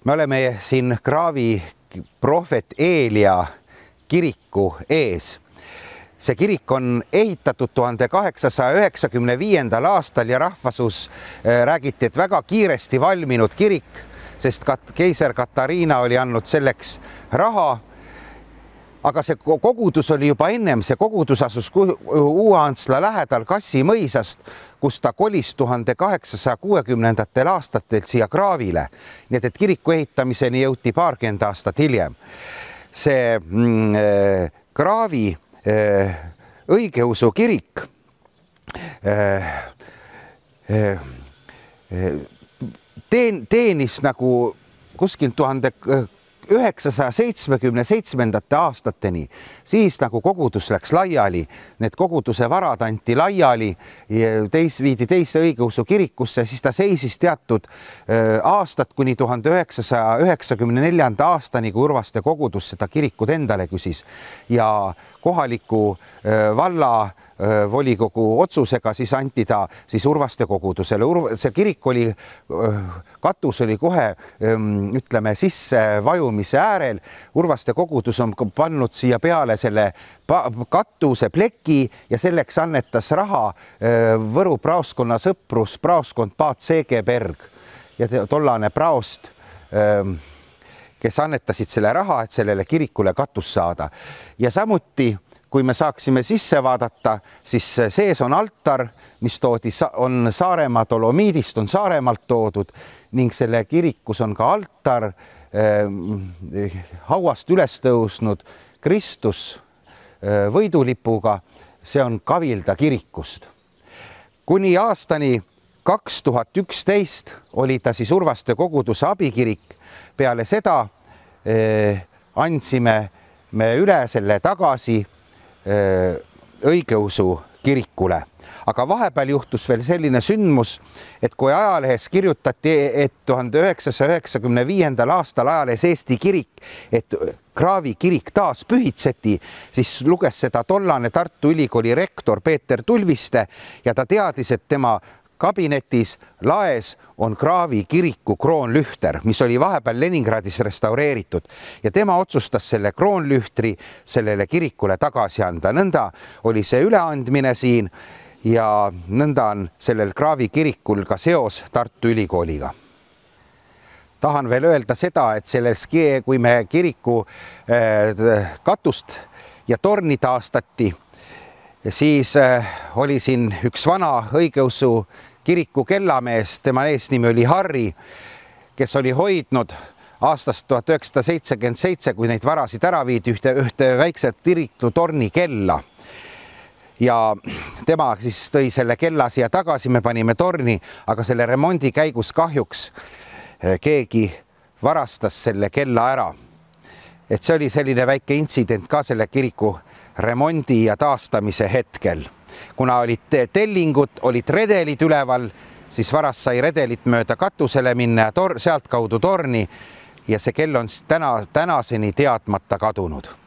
Me oleme siin Kraavi prohvet Eelia kiriku ees. See kirik on ehitatud 1895. aastal ja rahvasus räägiti, et väga kiiresti valminud kirik, sest keiser Katariina oli andnud selleks raha. Aga see kogudus oli juba ennem, see kogudus asus Uue-Antsla lähedal Kassi mõisast, kus ta kolis 1860. aastatel siia Kraavile. Nii et kiriku ehitamiseni jõuti paarkümmend aastat hiljem. See Kraavi õigeusu kirik teenis nagu kuskil 1977. aastateni, siis nagu kogudus läks laiali, need koguduse varad anti laiali, viidi teise õigeusu kirikusse, siis ta seisis teatud aastat kuni 1994. aastani, kui Urvaste kogudus seda kirikut endale küsis ja kohaliku valla volikogu otsusega siis anti ta siis Urvaste kogudusele. See kirik oli, katus oli kohe, ütleme, sissevajumise äärel. Urvaste kogudus on pannud siia peale selle katuse pleki ja selleks annetas raha Võru praoskonna sõprus, praoskond Paat Seegeberg ja tollane praost, kes annetasid selle raha, et sellele kirikule katus saada. Ja samuti, kui me saaksime sisse vaadata, siis sees on altar, mis on Saaremaa dolomiidist, on Saaremaalt toodud ning selle kirikus on ka altar, hauast üles tõusnud Kristus võidulipuga, see on Kavilda kirikust. Kuni aastani 2011 oli ta siis Urvaste koguduse abikirik. Peale seda andsime me üle selle tagasi õigeusu kirikule. Aga vahepeal juhtus veel selline sündmus, et kui ajalehes kirjutati, et 1995. aastal ajalehes Eesti kirik, et Kraavi kirik taas pühitseti, siis luges seda tollane Tartu Ülikooli rektor Peeter Tulviste ja ta teadis, et tema kabinetis laes on Kraavi kiriku kroonlühter, mis oli vahepeal Leningradis restaureeritud ja tema otsustas selle kroonlühtri sellele kirikule tagasi anda. Nõnda oli see üleandmine siin ja nõnda on sellel Kraavi kirikul ka seos Tartu Ülikooliga. Tahan veel öelda seda, et selles, kui me kiriku katust ja torni taastati, siis oli siin üks vana õigeusu kiriku kellamees, tema eesnimi oli Harri, kes oli hoidnud aastast 1977, kui neid varasid ära viidi, ühte väikset kiriku torni kella. Ja tema siis tõi selle kella siia tagasi, me panime torni, aga selle remondi käigus kahjuks keegi varastas selle kella ära. Et see oli selline väike intsident ka selle kiriku remondi ja taastamise hetkel. Kuna olid tellingud, olid redelid üleval, siis varas sai redelit mööda katusele minna ja sealt kaudu torni ja see kell on tänaseni teadmata kadunud.